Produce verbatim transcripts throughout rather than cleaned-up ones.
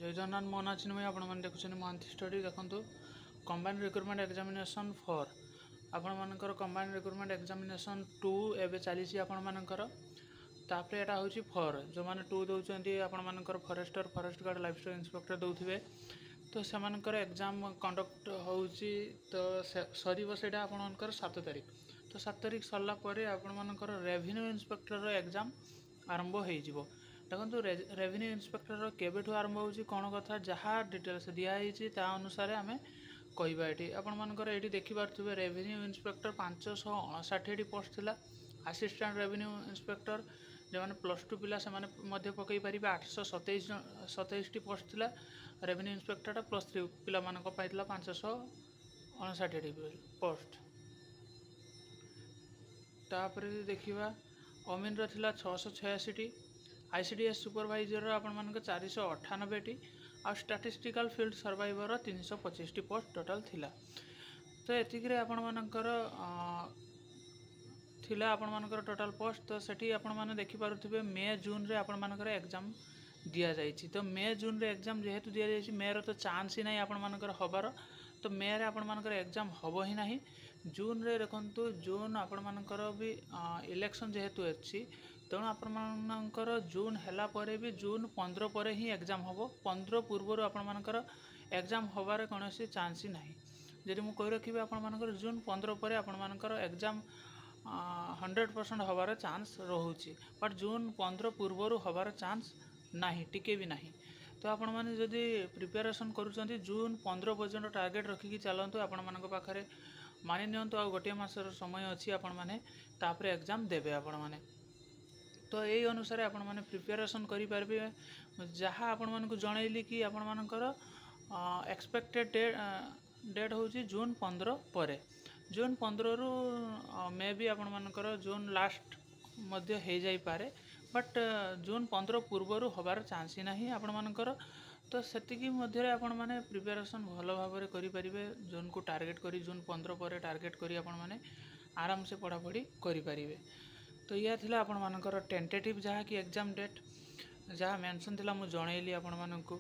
ଜୟ ଜଗନ୍ନାଥ ମୋ ନାଁ ଚିନ୍ମୟ ଆପଣମାନେ ଦେଖୁଛନ୍ତି ମହାନ୍ତି ଷ୍ଟଡି ଦେଖନ୍ତୁ କମ୍ବାଇନ୍ ରିକ୍ରୁଟମେଣ୍ଟ ଏକ୍ଜାମିନେସନ୍ ଫର୍ ଆପଣମାନଙ୍କର କମ୍ବାଇନ୍ ରିକ୍ରୁଟମେଣ୍ଟ ଏକ୍ଜାମିନେସନ୍ ଟୁ ଏବେ ଚାଲିଛି ଆପଣମାନଙ୍କର ତାପରେ ଏଇଟା ହେଉଛି ଫର୍ ଯେଉଁମାନେ ଟୁ ଦେଉଛନ୍ତି ଆପଣମାନଙ୍କର forester forest guard livestock inspector ଦେଉଥିବେ ତ ସେମାନଙ୍କର ଏକ୍ଜାମ୍ କଣ୍ଡକ୍ଟ ହେଉଛି ତ ସରିବ ସେଇଟା ଆପଣମାନଙ୍କର ସାତ ତାରିଖ ତ ସାତ ତାରିଖ ସରିଲା ପରେ ଆପଣମାନଙ୍କର ରେଭିନ୍ୟୁ ଇନ୍ସପେକ୍ଟରର ଏକ୍ଜାମ୍ ଆରମ୍ଭ ହେଇଯିବ ଦେଖନ୍ତୁ ରେଭିନ୍ୟୁ ଇନ୍ସପେକ୍ଟରର କେବେଠୁ ଆରମ୍ଭ ହେଉଛି କ'ଣ କଥା ଯାହା ଡିଟେଲ୍ସ ଦିଆହେଇଛି ତା ଅନୁସାରେ ଆମେ କହିବା ଏଠି ଆପଣମାନଙ୍କର ଏଇଠି ଦେଖିପାରୁଥିବେ ରେଭିନ୍ୟୁ ଇନ୍ସପେକ୍ଟର ପାଞ୍ଚଶହ ଅଣଷାଠିଏଟି ପୋଷ୍ଟ ଥିଲା ଆସିଷ୍ଟାଣ୍ଟ ରେଭିନ୍ୟୁ ଇନ୍ସପେକ୍ଟର ଯେଉଁମାନେ ପ୍ଲସ୍ ଟୁ ପିଲା ସେମାନେ ମଧ୍ୟ ପକାଇ ପାରିବେ ଆଠଶହ ସତେଇଶ ସତେଇଶଟି ପୋଷ୍ଟ ଥିଲା ରେଭିନ୍ୟୁ ଇନ୍ସପେକ୍ଟରଟା ପ୍ଲସ୍ ଥ୍ରୀ ପିଲାମାନଙ୍କ ପାଇଁ ଥିଲା ପାଞ୍ଚଶହ ଅଣଷାଠିଏଟି ପୋଷ୍ଟ ତାପରେ ଯଦି ଦେଖିବା ଅମିନର ଥିଲା ଛଅଶହ ଛୟାଅଶୀଟି I C D S supervisor ଆପଣମାନଙ୍କ ଚାରିଶହ ଅଠାନବେଟି ଆଉ ଷ୍ଟାଟିଷ୍ଟିକାଲ ଫିଲ୍ଡ ସର୍ଭେୟର ତିନିଶହ ପଚିଶଟି ପୋଷ୍ଟ ଟୋଟାଲ୍ ଥିଲା ତ ଏତିକିରେ ଆପଣମାନଙ୍କର ଥିଲା ଆପଣମାନଙ୍କର ଟୋଟାଲ୍ ପୋଷ୍ଟ ତ ସେଠି ଆପଣମାନେ ଦେଖିପାରୁଥିବେ ମେ ଜୁନ୍ରେ ଆପଣମାନଙ୍କର ଏକ୍ଜାମ୍ ଦିଆଯାଇଛି ତ ମେ ଜୁନ୍ରେ ଏକ୍ଜାମ୍ ଯେହେତୁ ଦିଆଯାଇଛି ମେର ତ ଚାନ୍ସ ହିଁ ନାହିଁ ଆପଣମାନଙ୍କର ହେବାର ତ ମେରେ ଆପଣମାନଙ୍କର ଏକ୍ଜାମ୍ ହେବ ହିଁ ନାହିଁ ଜୁନ୍ରେ ଦେଖନ୍ତୁ ଜୁନ୍ ଆପଣମାନଙ୍କର ବି ଇଲେକ୍ସନ୍ ଯେହେତୁ ଅଛି ତେଣୁ ଆପଣମାନଙ୍କର ଜୁନ୍ ହେଲା ପରେ ବି ଜୁନ୍ ପନ୍ଦର ପରେ ହିଁ ଏକ୍ଜାମ୍ ହେବ ପନ୍ଦର ପୂର୍ବରୁ ଆପଣମାନଙ୍କର ଏକ୍ଜାମ୍ ହେବାର କୌଣସି ଚାନ୍ସ ହିଁ ନାହିଁ ଯଦି ମୁଁ କହି ରଖିବି ଆପଣମାନଙ୍କର ଜୁନ୍ ପନ୍ଦର ପରେ ଆପଣମାନଙ୍କର ଏକ୍ଜାମ୍ ହଣ୍ଡ୍ରେଡ଼ ପରସେଣ୍ଟ ହେବାର ଚାନ୍ସ ରହୁଛି ବଟ୍ ଜୁନ୍ ପନ୍ଦର ପୂର୍ବରୁ ହେବାର ଚାନ୍ସ ନାହିଁ ଟିକେ ବି ନାହିଁ ତ ଆପଣମାନେ ଯଦି ପ୍ରିପାରେସନ୍ କରୁଛନ୍ତି ଜୁନ୍ ପନ୍ଦର ପର୍ଯ୍ୟନ୍ତ ଟାର୍ଗେଟ୍ ରଖିକି ଚାଲନ୍ତୁ ଆପଣମାନଙ୍କ ପାଖରେ ମାନି ନିଅନ୍ତୁ ଆଉ ଗୋଟିଏ ମାସର ସମୟ ଅଛି ଆପଣମାନେ ତାପରେ ଏକ୍ଜାମ୍ ଦେବେ ଆପଣମାନେ ତ ଏଇ ଅନୁସାରେ ଆପଣମାନେ ପ୍ରିପାରେସନ୍ କରିପାରିବେ ଯାହା ଆପଣମାନଙ୍କୁ ଜଣେଇଲି କି ଆପଣମାନଙ୍କର ଏକ୍ସପେକ୍ଟେଡ଼ ଡେଟ୍ ଡେଟ୍ ହେଉଛି ଜୁନ୍ ପନ୍ଦର ପରେ ଜୁନ୍ ପନ୍ଦରରୁ ମେ ବି ଆପଣମାନଙ୍କର ଜୁନ୍ ଲାଷ୍ଟ ମଧ୍ୟ ହେଇଯାଇପାରେ ବଟ୍ ଜୁନ୍ ପନ୍ଦର ପୂର୍ବରୁ ହେବାର ଚାନ୍ସ ହିଁ ନାହିଁ ଆପଣମାନଙ୍କର ତ ସେତିକି ମଧ୍ୟରେ ଆପଣମାନେ ପ୍ରିପାରେସନ୍ ଭଲ ଭାବରେ କରିପାରିବେ ଜୁନ୍କୁ ଟାର୍ଗେଟ୍ କରି ଜୁନ୍ ପନ୍ଦର ପରେ ଟାର୍ଗେଟ୍ କରି ଆପଣମାନେ ଆରାମସେ ପଢ଼ାପଢ଼ି କରିପାରିବେ ତ ଇୟା ଥିଲା ଆପଣମାନଙ୍କର ଟେଣ୍ଟେଟିଭ୍ ଯାହାକି ଏକ୍ଜାମ୍ ଡେଟ୍ ଯାହା ମେନସନ୍ ଥିଲା ମୁଁ ଜଣେଇଲି ଆପଣମାନଙ୍କୁ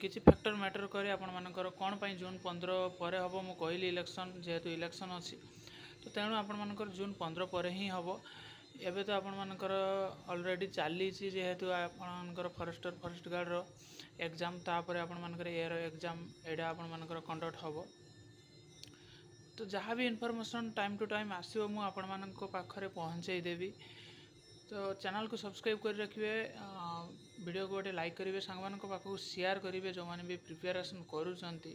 କିଛି ଫ୍ୟାକ୍ଟର ମ୍ୟାଟର୍ କରେ ଆପଣମାନଙ୍କର କ'ଣ ପାଇଁ ଜୁନ୍ ପନ୍ଦର ପରେ ହେବ ମୁଁ କହିଲି ଇଲେକ୍ସନ୍ ଯେହେତୁ ଇଲେକ୍ସନ୍ ଅଛି ତ ତେଣୁ ଆପଣମାନଙ୍କର ଜୁନ୍ ପନ୍ଦର ପରେ ହିଁ ହେବ ଏବେ ତ ଆପଣମାନଙ୍କର ଅଲରେଡ଼ି ଚାଲିଛି ଯେହେତୁ ଆପଣମାନଙ୍କର ଫରେଷ୍ଟର ଫରେଷ୍ଟ ଗାର୍ଡ଼ର ଏକ୍ଜାମ୍ ତାପରେ ଆପଣମାନଙ୍କର ଏର ଏକ୍ଜାମ୍ ଏଇଟା ଆପଣମାନଙ୍କର କଣ୍ଡକ୍ଟ ହେବ ତ ଯାହା ବି ଇନଫର୍ମେସନ୍ ଟାଇମ୍ ଟୁ ଟାଇମ୍ ଆସିବ ମୁଁ ଆପଣମାନଙ୍କ ପାଖରେ ପହଞ୍ଚେଇ ଦେବି ତ ଚ୍ୟାନେଲକୁ ସବସ୍କ୍ରାଇବ୍ କରି ରଖିବେ ଭିଡ଼ିଓକୁ ଗୋଟେ ଲାଇକ୍ କରିବେ ସାଙ୍ଗମାନଙ୍କ ପାଖକୁ ସେୟାର କରିବେ ଯେଉଁମାନେ ବି ପ୍ରିପାରେସନ୍ କରୁଛନ୍ତି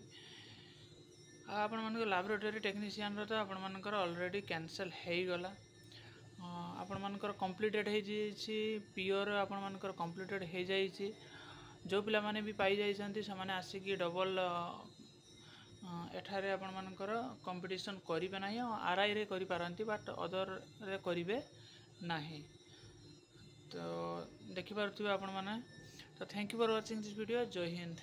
ଆଉ ଆପଣମାନଙ୍କ ଲାବୋରେଟୋରୀ ଟେକ୍ନିସିଆନର ତ ଆପଣମାନଙ୍କର ଅଲରେଡ଼ି କ୍ୟାନସେଲ୍ ହେଇଗଲା ଆପଣମାନଙ୍କର କମ୍ପ୍ଲିଟେଡ଼ ହେଇଯାଇଛି ପିଓର ଆପଣମାନଙ୍କର କମ୍ପ୍ଲିଟେଡ଼ ହେଇଯାଇଛି ଯେଉଁ ପିଲାମାନେ ବି ପାଇଯାଇଛନ୍ତି ସେମାନେ ଆସିକି ଡବଲ୍ ଏଠାରେ ଆପଣମାନଙ୍କର କମ୍ପିଟିସନ୍ କରିବେ ନାହିଁ ଆଉ ଆର୍ ଆଇରେ କରିପାରନ୍ତି ବଟ୍ ଅଦରରେ କରିବେ ନାହିଁ ତ ଦେଖିପାରୁଥିବେ ଆପଣମାନେ ତ thank you for watching this video Jay Hind.